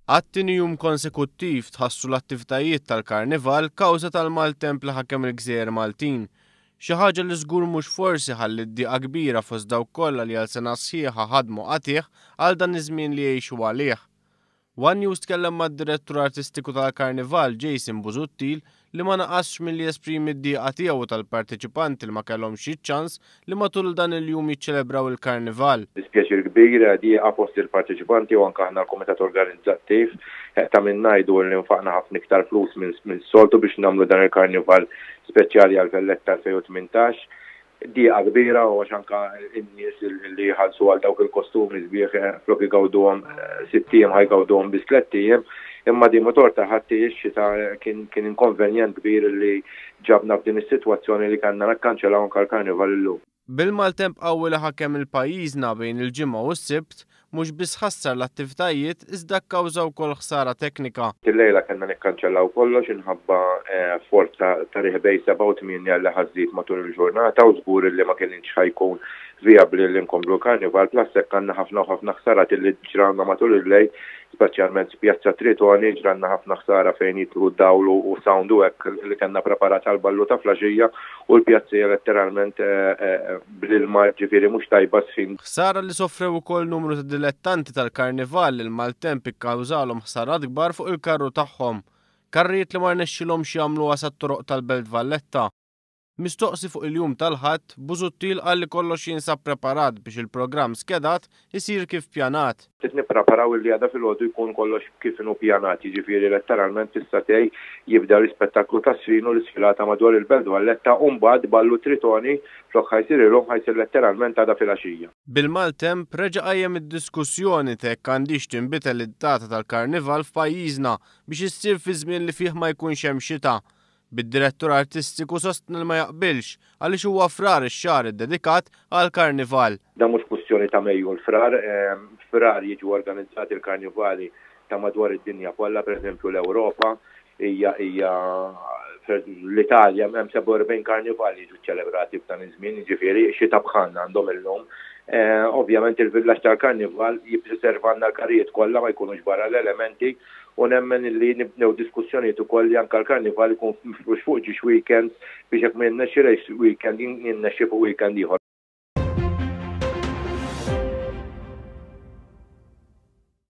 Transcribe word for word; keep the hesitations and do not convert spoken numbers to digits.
Għat-tieni jum konsekuttiv tħassru l-attivitajiet tal-Karnival kawża tal-maltemp li ħakem il-Gżejjer Maltin. Xi ħaġa li żgur mhux forsi ħalliet diqa kbira fost dawk kollha li għal sena sħiħa ħadmu qatigħ għal dan iż-żmien li jgħixu għalih. One News tkellem mad-direttur artistiku tal-Karnival, Jason Busuttil, li ma naqasx milli jesprimi d-diqa tiegħu tal-parteċipanti li ma kellhomx iċ-ċans li matul dan il-jum jiċċelebraw il-Karnival. Dispjaċir kbir, diqa fost il-parteċipanti u anke aħna l-komitat organizzattiv. Ta' min ngħidu li nfaqna ħafna iktar flus minn soltu biex nagħmlu dan il-Karnival speċjali għal Valletta elfejn u tmintax. Diqa kbira u għax anka n-nies li jħallsu għal dawk il-kostumi sbieħ, flok igawduhom sitt ijiem, ħa jgawduhom biss tlett ijiem, imma di motor ta' ħadd ix-xita kien kien inkonvenjent kbir li ġabna f'din is-sitwazzjoni li kellna nakkanċellaw anka l-Karnival illum. Bil-maltemp qawwi li ħakem il-pajjiżna bejn il-Ġimgħa u s-Sibt, mhux biss ħassar l-attivitajiet iżda kkawża wkoll ħsara teknika. Illejla kellna nikkanċellaw kollox inħabba forza ta' riħ bejn seba' u tmienja li ħa żżid matul il-ġurnata u żgur li ma kienx ħa jkun vijabbli li nkomplu l-Karnival, plus hekk għandna ħafna u ħafna ħsarat li ġrawlna matul il-lejl, speċjalment Pjazza Tritoni ġralna ħafna ħsara fejn jidħlu dawl u sound u hekk li kellna preparat għal ballu ta' filgħaxija u l-pjazza letteralment bl-ilma, ġifieri mhux tajba sfin. Ħsara li soffrew ukoll numru ta' dilettanti tal-Karnival li l-maltemp ikkawżalhom ħsarat kbar fuq il-karru tagħhom. Karrijiet li ma rnexxilhomx jagħmlu sat-toroq tal-Belt Valletta. Mistoqsi fuq il-jum tal-Ħadd, Busuttil qal li kollox jinsab preparat biex il-programm skedat isir kif pjanat. Qed nippreparaw li għada filgħodu jkun kollox kif inhu pjanat, jiġifieri letteralment fis-sagħtejn jibda l-ispettaklu ta' sfin u l-isfilata madwar il-Belt Valletta u mbagħad ballu Tritoni flok ħa jsir illum, ħa jsir letteralment għada filgħaxija. Bil-maltemp reġa' qajjem id-diskussjoni jekk għandix tinbidel id-data tal-Karnival f'pajjiżna biex issir fi żmien li fih ma jkunx hemm xita. Bid-direttur artistiku sostna li ma jaqbilx għaliex huwa Frar ix-xahar iddedikat għal karnival. Dan mhux kwistjoni ta' Mejju l-Frar, Frar jiġu organizzati l-karnivali ta' madwar id-dinja kollha, pereżempju l-Ewropa, hija hija l-Italja hemm sebgħa u erbgħin karnivali jiġu ċelebrati f'dan iż-żmien, jiġifieri xita bħalna għandhom illum. Ovvjament il-villaġġ tal-Karnival jippreservanna l-karrijiet kollha, ma jkunux barra l-elementi, u nemmen li nibnew diskussjonijiet ukoll li anke l-Karnival ikun mifrux fuq żewġ weekends biex jekk ma jinnexxi race weekend, jinnexxi fuq weekend ieħor.